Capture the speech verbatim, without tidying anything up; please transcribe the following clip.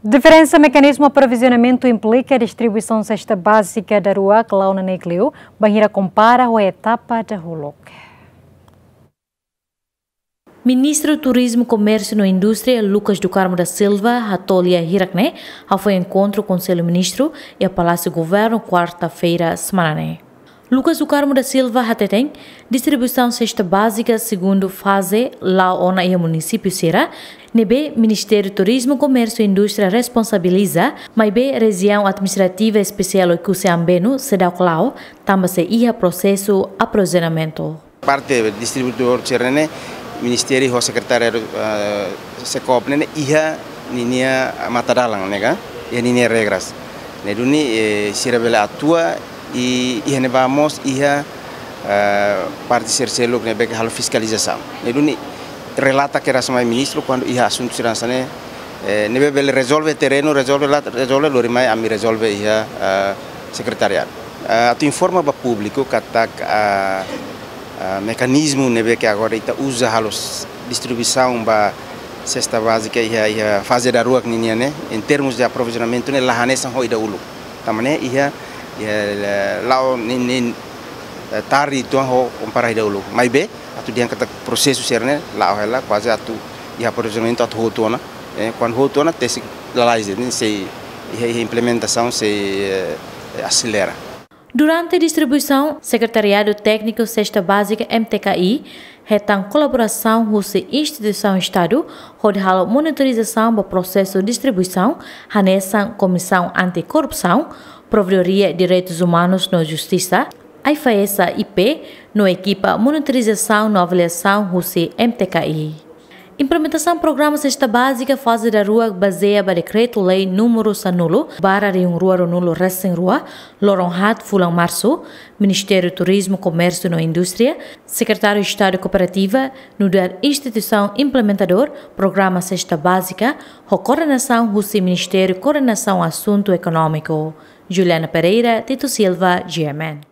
Diferensa mekanizmu aprovizionamentu implika distribuisaun sesta bázika daruak la'o neineik liu, bainhira kompara ho etapa dahuluk. Ministru Turizmu, Komérsiu no Indústria, Lucas do Carmo da Silva, hato'o lia hirak ne'e hafoin enkontru Konsellu Ministru iha Palásiu Governu, kuarta-feira semana ne'e. Lucas do Carmo da Silva hateten, distribuisaun sesta bázika segundu faze la'o ona iha munisípiu sira ne'ebé Ministériu Turizmu, Komérsiu no Indústria responsabiliza, maibé Rejiaun Administrativa Espesiál Oé-Cusse Ambeno seidauk la'o, tanba sei iha prosesu aprovizionamentu. Parte distribuidór sira ne'e, Ministériu ho Sekretariadu, eh, SECOP ne'e iha ninia matadalan ne'e ka, iha ninia regras. Ne'e duni, eh, sira bele atua i iha ne'ebá mós iha, eh, parte sira seluk ne'ebé ke halo fiskalizasaun. Ne'e duni relata kedas mai ministru kuandu iha asuntu sira hanesan ne'e, eh, ne'ebé bele rezolve terrenu, rezolve la, rezolve lori mai ami rezolve iha, eh, sekretariadu. Eh, atu informa ba públiku katak, ah, ah, mekanizmu ne'ebé ke agora ita uza halo s-, distribuisaun ba sesta bázika iha, iha faze daruak ninian ne'e, em termos de aprovizionamentu ne'e la hanesan ho ida uluk. Tanba ne'e iha, iha, eh, la'o nin, nin, eh, tarde uitoan ho kompara ida uluk. Maibé, atu dehan katak prosesu sira ne'e la'o hela, kuaze atu iha aprovizionamentu atu hotu ona. Eh, kuandu hotu ona, tesi lalais, ne'e sei iha, iha implementasaun sei, eh, aselera. Durante distribuisaun, Sekretariadu Tékniku Sesta Bázika, M T K I, hetan kolaborasaun husi instituisaun Estadu hodi halo monitorizasaun ba prosesu distribuisaun, hanesan Komisaun Anti-Korrupsaun, Provedoria Direitus Umanus no Justisa, AIFAESA I P, no ekipa monitorizasaun no avaliasaun husi M T K I. Implementasaun programa sesta bázika faze daruak bazeia ba Dekretu-Lei númeru sanulu barra rihun rua ruanulu resin rua, loron haat fulan Marsu, Ministériu Turizmu, Komérsiu no Indústria, Sekretáriu Estadu Kooperativa, nu'udar instituisaun implementadór programa sesta bázika, ho koordenasaun husi Ministériu Koordenasaun Asuntu Ekonómiku. Juliana Pereira, Tito Silva, G M N.